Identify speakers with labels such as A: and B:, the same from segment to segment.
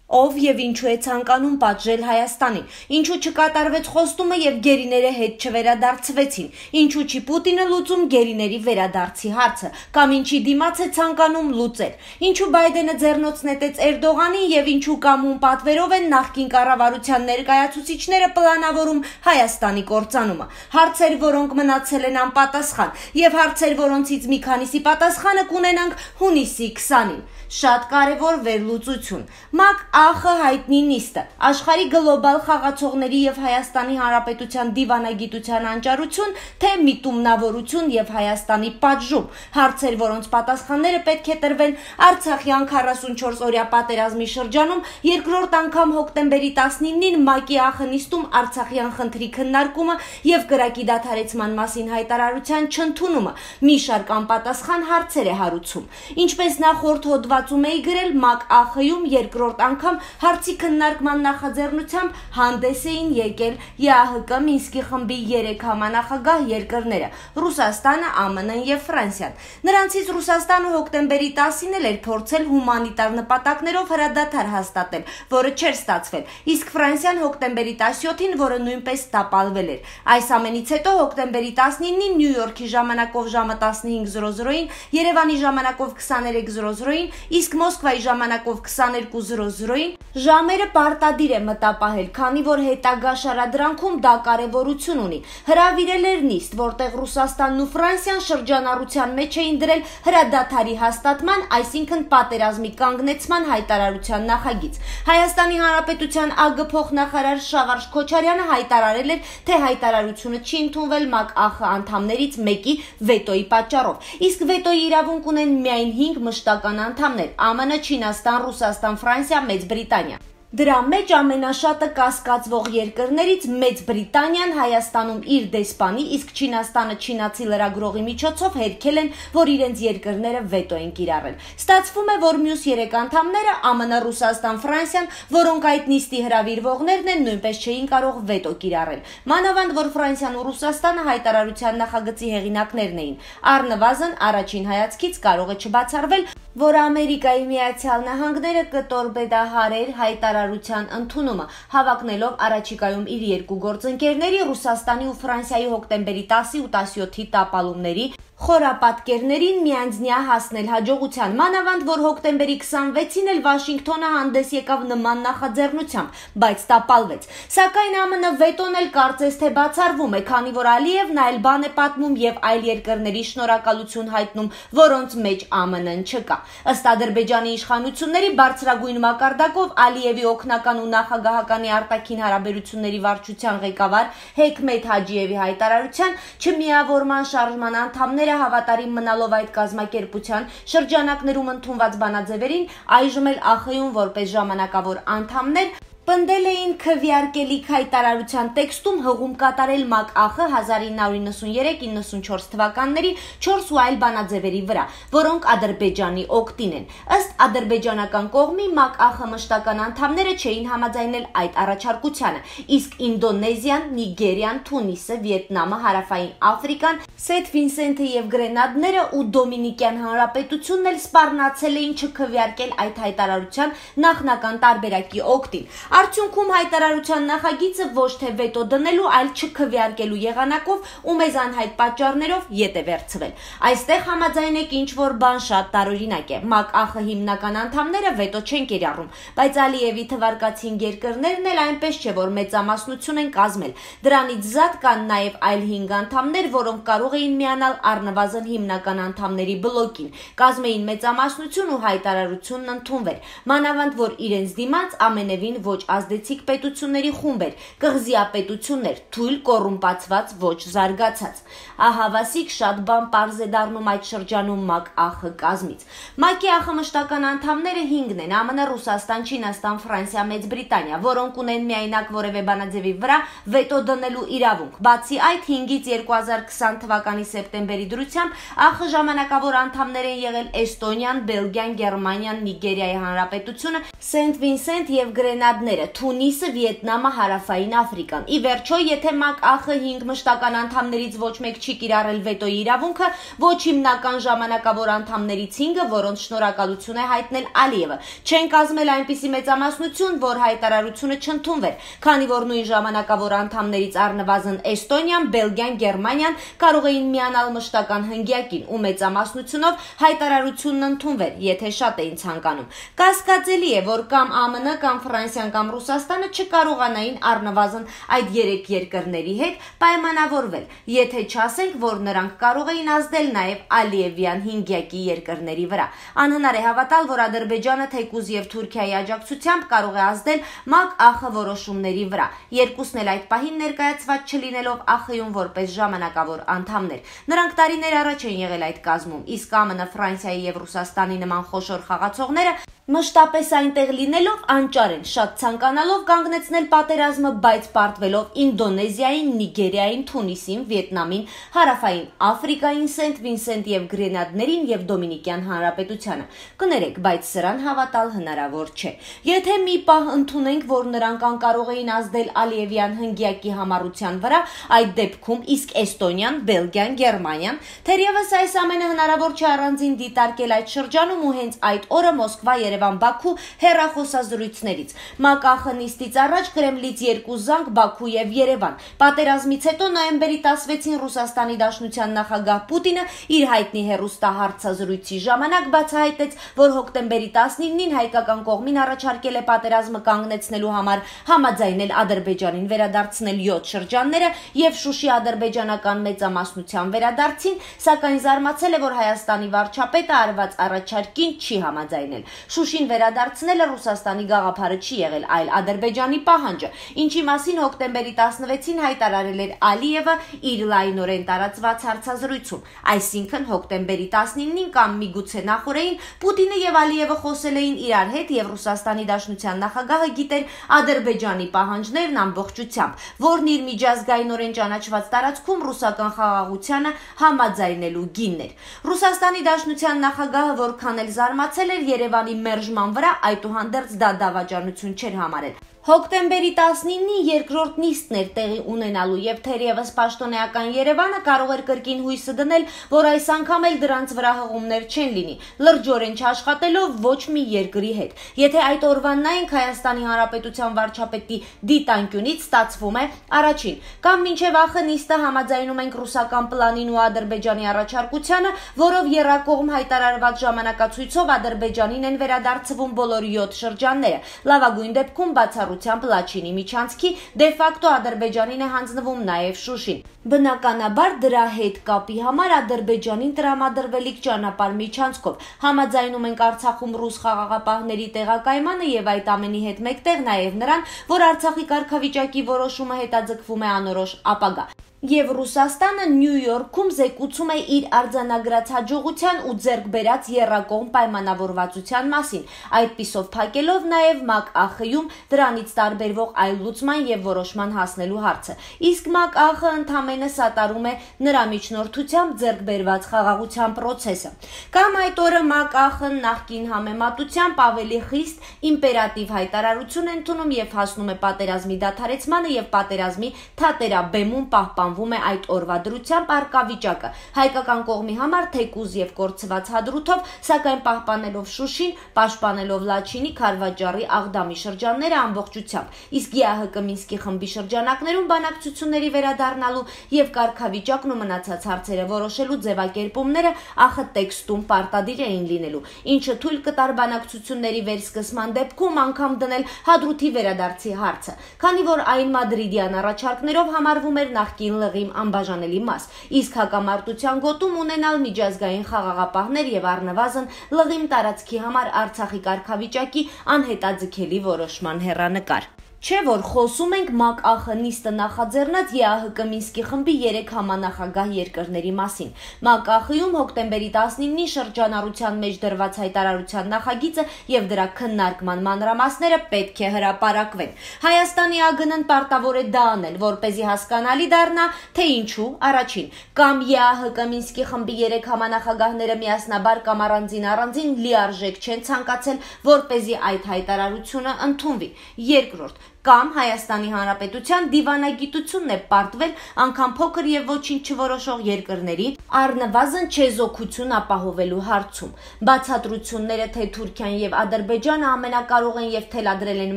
A: Ով եւ ինչու է ցանկանում պատժել Հայաստանին, ինչու չկատարվեց խոստումը եւ գերիները հետ չվերադարձվեցին, ինչու չի Պուտինը լուծում գերիների վերադարձի հարցը, կամ ինչի դիմաց է ցանկանում լուծել, ինչու Բայդենը ձեռնոց նետեց Էրդողանին եւ ինչու կամուն պատվերով են նախկին կառավարության ներկայացուցիչները պլանավորում Հայաստանի կործանումը, հարցեր, որոնք մնացել են անպատասխան եւ հարցեր, որոնցից մի քանիսի պատասխանը կունենանք հունիսի 20-ին։ Շատ կարևոր վերլուծություն։ ՄԱԿ ԱԽ հայտնի նիստը, աշխարհի գլոբալ խաղացողների եւ Հայաստանի Հանրապետության դիվանագիտության անճարություն, թե միտումնավորություն եւ Հայաստանի պատժում, հարցեր, որոնց պատասխանները պետք է տրվեն Արցախյան 44-օրյա պատերազմի շրջանում, երկրորդ անգամ հոկտեմբերի 19-ին ՄԱԿ-ի ԱԽ նիստում Արցախյան խնդրի քննարկումը եւ կրակի դադարեցման մասին հայտարարության չընդունումը մի շարք անպատասխան հարցեր է հարուցում։ Ինչպես նախորդ հոդվածում էի գրել, ՄԱԿ ԱԽ-ում երկրորդ անգամ հարցի քննարկման նախաձեռնությամբ հանդես էին եկել ԵԱՀԿ Մինսկի խմբի 3 համանախագահ երկրները՝ Ռուսաստանը, ԱՄՆ-ն եւ Ֆրանսիան։ Նրանցից Ռուսաստանը հոկտեմբերի 10-ին էր փորձել հումանիտար նպատակներով հրադադար հաստատել, որը չէր ստացվել, իսկ Ֆրանսիան հոկտեմբերի 17-ին, որը նույնպես տապալվել էր։ Այս ամենից հետո հոկտեմբերի 19-ին Նյու Յորքի ժամանակով ժամը 15:00-ին, Երևանի ժամանակով 23:00-ին, իսկ Մոսկվայի ժամանակով 22:00-ին ժամերը պարտադիր է մտապահել, քանի որ հետագա շարադրանքում դա կարևորություն ունի։ Հրավիրել էր նիստ, որտեղ Ռուսաստանն ու Ֆրանսիան շրջանառության մեջ էին դրել հրադադարի հաստատման, այսինքն պատերազմի կանգնեցման հայտարարության նախագիծ։ Հայաստանի Հանրապետության ԱԳ փոխնախարար Շավարժ Քոչարյանը հայտարարել էր, թե հայտարարությունը չի ընդունվել ՄԱԿ ԱԽ անդամներից մեկի վետոյի պատճառով, իսկ վետոյի իրավունք ունեն միայն 5 մշտական անդամներ՝ ԱՄՆ, Չինաստան, Ռուսաստան, Ֆրանսիա, Մեծ Բրիտանիա։ Դրա մեջ ամենաշատը կասկածվող երկրներից Մեծ Բրիտանիան Հայաստանում իր դեսպանի, իսկ Չինաստանը չինացի լրագրողի միջոցով հերքել են, որ իրենց երկրները վետո են կիրառել։ Ստացվում է, որ մյուս 3 անդամները ԱՄՆ, Ռուսաստան, Ֆրանսիան, որոնք այդ նիստի հրավիրվողներն են, նույնպես չէին կարող վետո կիրառել։ Մանավանդ, որ Ֆրանսիան ու Ռուսաստանը հայտարարության նախագծի հեղինակներն էին։ Առնվազն առաջին հայացքից կարող է չբացառվել, որ Ամերիկայի Միացյալ Նահանգները կտորպեդահարեր հայտարարության ընդունումը, հավակնելով առաջիկայում իր երկու գործընկերների Ռուսաստանի ու Ֆրանսիայի հոկտեմբերի 10-ի ու 17-ի տապալումների խորապատկերներին միանձնյա հասնել հաջողության, մանավանդ, որ հոկտեմբերի 26-ին էլ Վաշինգտոնը հանդես եկավ նման նախաձեռնությամբ, բայց տապալվեց։ Սակայն ԱՄՆ վետոն էլ կարծես թե բացառվում է, քանի որ Ալիևն այլ բան է պատմում եւ այլ երկրների շնորհակալություն հայտնում, որոնց մեջ ԱՄՆ-ն չկա։ Ըստ Ադրբեջանի իշխանությունների բարձրագույն մակարդակով Ալիևի օգնական ու նախագահականի արտաքին հարաբերությունների վարչության ղեկավար Հեքմեթ Հաջիևի հայտարարության չմիավորման շարժման անդամները հավատարիմ մնալով այդ կազմակերպության շրջանակներում ընդունված բանաձևերին, այժմ էլ ԱԽ-ում որպես ժամանակավոր անդամներ պնդել էին քվեարկելիք հայտարարության տեքստում հղում կատարել ՄԱԿ ԱԽ 1993-94 թվականների 4 ու այլ բանաձևերի վրա, որոնք Ադրբեջանի օգտին են։ Ըստ ադրբեջանական կողմի ՄԱԿ ԱԽ մշտական անդամները չէին համաձայնել այդ առաջարկությանը, իսկ Ինդոնեզիան, Նիգերիան, Թունիսը, Վիետնամը, Հարավային Աֆրիկան, Սեթ Վինսենթը եւ Գրենադները ու Դոմինիկյան Հանրապետությունն էլ սպառնացել էին չքվեարկել այդ հայտարարության նախնական տարբերակի օգտին։ Արդյունքում հայտարարության նախագիծը ոչ թե վետո դնելու, այլ չքվեարկելու եղանակով ու մեզ անհայտ պատճառներով ետ է վերցվել։ Այստեղ համաձայնեք ինչ-որ բան շատ տարօրինակ է։ ՄԱԿ ԱԽ հիմնական անդամները վետո չեն կիրառում, բայց Ալիևի թվարկածին երկրներն էլ այնպես չէ, որ մեծամասնություն են կազմել։ Դրանից զատ կան նաև այլ 5 անդամներ, որոնք կարող էին միանալ առնվազն հիմնական անդամների բլոկին, կազմեին մեծամասնություն ու հայտարարությունն ընդունվեր։ Մանավանդ, որ իրենց դիմաց ամենևին ոչ ազդեցիկ պետությունների խումբ էր, կղզիապետություններ, թույլ կոռումպացված, ոչ զարգացած։ Ահավասիկ շատ բան պարզ է դառնում այդ շրջանում ՄԱԿ ԱԽ կազմից։ ՄԱԿ-ի ԱԽ մշտական անդամները 5-ն են՝ ԱՄՆ, Ռուսաստան, Չինաստան, Ֆրանսիա, Մեծ Բրիտանիա, որոնք ունեն միայնակ որևէ բանաձևի վրա վետո դնելու իրավունք։ Բացի այդ, 5-ից 2020 թվականի սեպտեմբերի դրությամբ ԱԽ ժամանակավոր անդամներ են եղել Էստոնիան, Բելգիան, Գերմանիան, Նիգերիայի Հանրապետությունը, Սենթ Վինսենթ եւ Գրենադները երկրները՝ Թունիսը, Վիետնամը, Հարավային Աֆրիկան։ Ի վերջո, եթե ՄԱԿ-ԱԽ 5 մշտական անդամներից ոչ մեկ չի կիրառել վետոյի իրավունքը, ոչ հիմնական ժամանակավոր անդամներից 5-ը, որոնց շնորհակալություն է հայտնել Ալիևը, չեն կազմել այնպիսի մեծամասնություն, որ հայտարարությունը չընդունվեր, քանի որ նույն ժամանակավոր անդամներից առնվազն Էստոնիան, Բելգիան, Գերմանիան կարող էին միանալ մշտական հնգյակին ու մեծամասնությունով հայտարարությունն ընդունվեր, եթե շատ էին ցանկանում։ Կասկածելի է, որ կամ ԱՄՆ, կամ Ֆրանսիան, կամ Ռուսաստանը չկարողանային առնվազն այդ 3 երկրների հետ պայմանավորվել, եթե չասենք, որ նրանք կարող էին ազդել նաև Ալիևյան հինգյակի երկրների վրա։ Անհնար է հավատալ, որ Ադրբեջանը թեկուզ եւ Թուրքիայի աջակցությամբ կարող է ազդել ՄԱԿ-ԱԽ որոշումների վրա, երկուսն էլ այդ պահին ներկայացված չլինելով ԱԽ-ում որպես ժամանակավոր անդամներ։ Նրանք տարիներ առաջ են եղել այդ կազմում, իսկ ԱՄՆ, Ֆրանսիայի եւ Ռուսաստանի նման խոշոր խաղացողները մշտապես այնտեղ լինելով անճար են, շատ ցանկանալով կանգնեցնել պատերազմը, բայց պարտվելով Ինդոնեզիային, Նիգերիային, Թունիսին, Վիետնամին, Հարավային Աֆրիկային, Սենթ Վինսենտ եւ Գրենադներին եւ Դոմինիկյան Հանրապետությանը։ Կներեք, բայց սրան հավատալ հնարավոր չէ։ Եթե մի պահ ընդունենք, որ նրանք անկարող էին ազդել Ալիևյան հնգյակի համառության վրա, այդ դեպքում իսկ Էստոնիան, Բելգիան, Գերմանիան, թերևս այս ամենը հնարավոր չէ առանձին դիտարկել այդ շրջանում ու հենց այդ օրը Մոսկվա, Բաքու հեռախոսազրույցներից։ ՄԱԿ-ԱԽ նիստից առաջ Կրեմլից 2 զանգ Բաքու եւ Երևան։ Պատերազմից հետո նոյեմբերի 16-ին Ռուսաստանի Դաշնության նախագահ Պուտինը իր հայտնի հեռուստահարցազրույցի ժամանակ բացահայտեց, որ հոկտեմբերի 19-ին հայկական կողմին առաջարկել է պատերազմը կանգնեցնելու համար համաձայնել Ադրբեջանին վերադարձնել 7 շրջանները եւ Շուշի ադրբեջանական մեծամասնության վերադարձին, սակայն զարմացել է, որ Հայաստանի վարչապետը արված առաջարկին չի համաձայնել։ Շուշին վերադարձնելը Ռուսաստանի գաղափարը չի եղել, այլ Ադրբեջանի պահանջը, ինչի մասին հոկտեմբերի 16-ին հայտարարել էր Ալիևը իր լայնորեն տարածված հարցազրույցում։ Այսինքն հոկտեմբերի 19-ին կամ միգուցե նախօրեին Պուտինը եւ Ալիևը խոսել էին իրար հետ եւ Ռուսաստանի Դաշնության նախագահը գիտեր Ադրբեջանի պահանջներն ամբողջությամբ, որն իր միջազգայինորեն ճանաչված տարածքում ռուսական խաղաղությանը համաձայնելու գինն էր։ Ռուսաստանի Դաշնության նախագահը որքան էլ զարմացել էր Երևանի մերժման վրա, այդուհանդերձ դա դավաճանություն չէր համարել։ Հոկտեմբերի 19-ի երկրորդ նիստն էր տեղի ունենալու եւ թերևս պաշտոնեական Երևանը կարող էր կրկին հույսը դնել, որ այս անգամ էլ դրանց վրա հղումներ չեն լինի, լրջորեն չաշխատելով ոչ մի երկրի հետ։ Եթե այդ օրվան նայենք Հայաստանի Հանրապետության վարչապետի դիտանկյունից, ստացվում է առաջին, կամ մինչև ԱԽ նիստը համաձայնում ենք ռուսական պլանին ու Ադրբեջանի առաջարկությանը, որով եռակողմ հայտարարված ժամանակացույցով Ադրբեջանին են վերադարձվում բոլոր 7 շրջանները, լավագույն դեպքում բացառությամբ Լաչինի միջանցքի, դե-ֆակտո Ադրբեջանին է հանձնվում նաև Շուշին։ Բնականաբար դրա հետ կապի համար Ադրբեջանին տրամադրվելիք ճանապարհ միջանցքով համաձայնում ենք Արցախում ռուս խաղաղապահների տեղակայմանը եւ այդ ամենի հետ մեկտեղ նաև նրան, որ Արցախի կարգավիճակի որոշումը հետաձգվում է անորոշ ապագա։ Եվ Ռուսաստանը Նյու Յորքում զեկուցում է իր արձանագրած հաջողության ու ձեռք բերած եռակողմ պայմանավորվածության մասին, այդպիսով փակելով նաև ՄԱԿ-ԱԽ-ում դրանից տարբերվող այլ լուծման եւ որոշման հասնելու հարցը։ Իսկ ՄԱԿ-ԱԽ-ը ընդամենը սատարում է նրա միջնորդությամբ ձեռք բերված խաղաղության process-ը։ Կամ այդ օրը ՄԱԿ-ԱԽ-ն նախկին համեմատությամբ ավելի խիստ իմպերատիվ հայտարարություն է ընդունում եւ հասնում է պատերազմի դադարեցմանը եւ պատերազմի թատերաբեմում պահպանվում է այդ օրվա դրությամբ առկա վիճակը, հայկական կողմի համար թեկուզ եւ կորցված հադրութով, սակայն պահպանելով Շուշին, պաշտպանելով Լաչինի, Քարվաճառի, Աղդամի շրջանները ամբողջությամբ, իսկ ԵԱՀԿ Մինսկի խմբի շրջանակներում բանակցությունների վերադառնալու եւ կարգավիճակն ու մնացած հարցերը որոշելու ձևակերպումները ԱԽ տեքստում պարտադիր էին լինելու, ինչը թույլ կտար բանակցությունների վերսկսման դեպքում անգամ դնել հադրութի վերադարձի հարցը, քանի որ այն մադրիդյան առաջարկներով համարվում էր նախկին լղիմ անբաժանելի մաս, իսկ հակամարտության գոտում ունենալ միջազգային խաղաղապահներ եւ առնվազն լղիմ տարածքի համար Արցախի կարգավիճակի անհետաձգելի որոշման հեռանկար։ Չէ որ խոսում ենք ՄԱԿ-ԱԽ նիստը նախաձեռնած ԵԱՀԿ Մինսկի խմբի 3 համանախագահ երկրների մասին։ ՄԱԿ-ԱԽ-ում հոկտեմբերի 19-ի շրջանառության մեջ դրված հայտարարության նախագիծը եւ դրա քննարկման մանրամասները պետք է հրապարակվեն։ Հայաստանի ԱԳՆ-ն պարտավոր է դա անել, որպեսզի հասկանալի դառնա, թե ինչու առաջին կամ ԵԱՀԿ Մինսկի խմբի 3 համանախագահները միասնաբար կամ առանձին լիարժեք չեն ցանկացել, որպեսզի այդ հայտարարությունը ընդունվի։ Երկրորդ կամ Հայաստանի Հանրապետության դիվանագիտությունն է պարտվել անգամ փոքր եւ ոչինչ չորոշող երկրների առնվազն չեզոքություն ապահովելու հարցում։ Բացատրությունները, թե Թուրքիան եւ Ադրբեջանը ամենակարող են եւ թելադրել են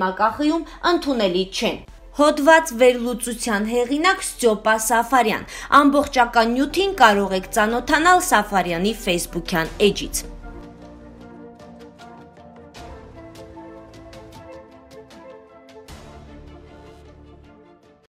A: ՄԱԿ-ում, ընդունելի չեն։ Հոդված վերլուծության հեղինակ Ստյոպա Սաֆարյան։ Ամբողջական նյութին կարող եք ծանոթանալ Սաֆարյանի Facebook-յան էջից։